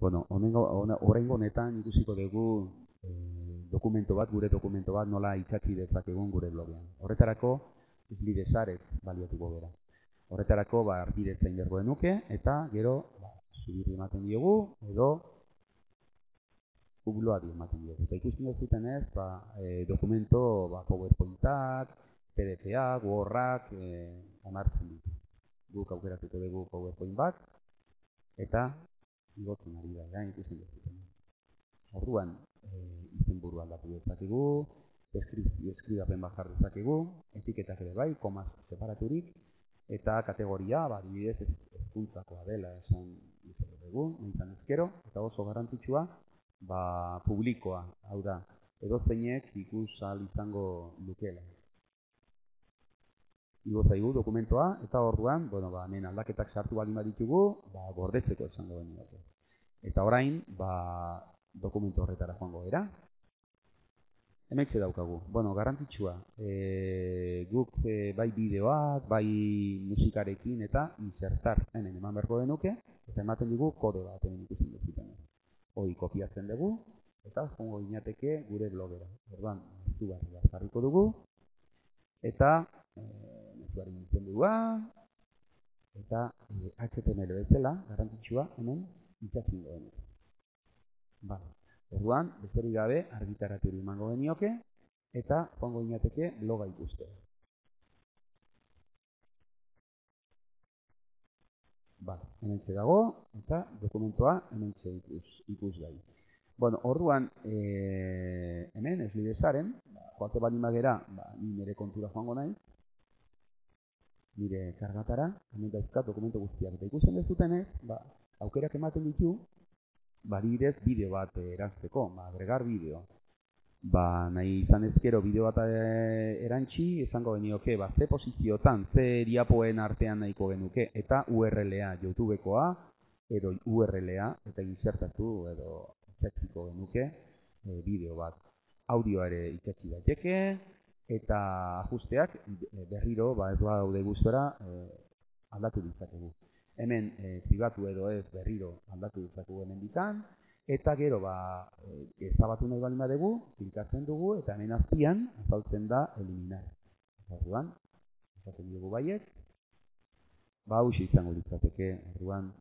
Bueno, oraingo honetan ikusiko dugu dokumento bat, gure dokumento bat nola itsatsi dezakegun gure blogean. Horretarako, Slidesaret baliatuko gara. Horretarako, argidetza inbergo genuke, eta gero, zubirri ematen diogu, edo ubloari ematen diogu. Eta ikusten duzuten ez, dokumento, PowerPointak, PDF-ak, Word-ak, onartzen ditu. Guk aukeratuko dugu PowerPoint bat, eta igotzen ari da, ikusten duzuten. Orduan, izenburua aldatu dezakegu, deskribapen bat jar dezakegu, etiketak ere bai, komaz separaturik, eta kategoria, adibidez, hezkuntzakoa dela esan dugu, nintzen ezkero, eta oso garrantzitsua, publikoa, hau da, edozeinek ikus ahal izango lukeela. Igo zaigu dokumentoa, eta orduan, hemen aldaketak sartu baldin baditugu, gordetzeko esango genioke. Eta orain, dokumentu horretara joango gara. Hementxe daukagu. Garrantzitsua, guk bai bideoak, bai musikarekin eta insertar hemen eman beharko denuke, eta ematen dugu kode bat hemen ikusten duzuten. Hoi kopiatzen dugu, eta joango ginateke gure blogera. Orduan, zugarri bat jarriko dugu, eta mezuaren izendua, eta HTML bezala, garrantzitsua hemen itxatzen dugu. Orduan, besterik gabe argitaratu emango genioke, eta joango ginateke bloga ikuste. Hementxe dago, eta dokumentoa hementxe ikus gai. Orduan, hemen, Slidesaren, joate baldin bagera, ni nire kontura joango nahi, nire kargatara, hemen dauzkat dokumento guztiak. Eta ikusten dezutenez, aukerak ematen ditu, adibidez bideo bat erantzeko, agregar bideo. Nahi izan ezkero bideo bat erantzi, esango genioke, ze posiziotan, ze diapoen artean nahiko genuke, eta URL-a, YouTubekoa, edo URL-a, eta insertatu, edo itxatziko genuke bideo bat. Audioa ere itxatzi daiteke, eta ajusteak berriro, ez daude gustora, aldatu ditzakegu. Hemen pribatu edo ez berriro aldatu ditzakegu hemen ditan, eta gero ezabatu nahi baldin badugu, klinkatzen dugu, eta hemen azpian azaltzen da eliminar. Orduan, esaten dugu baiet, hauxe izango litzateke, orduan,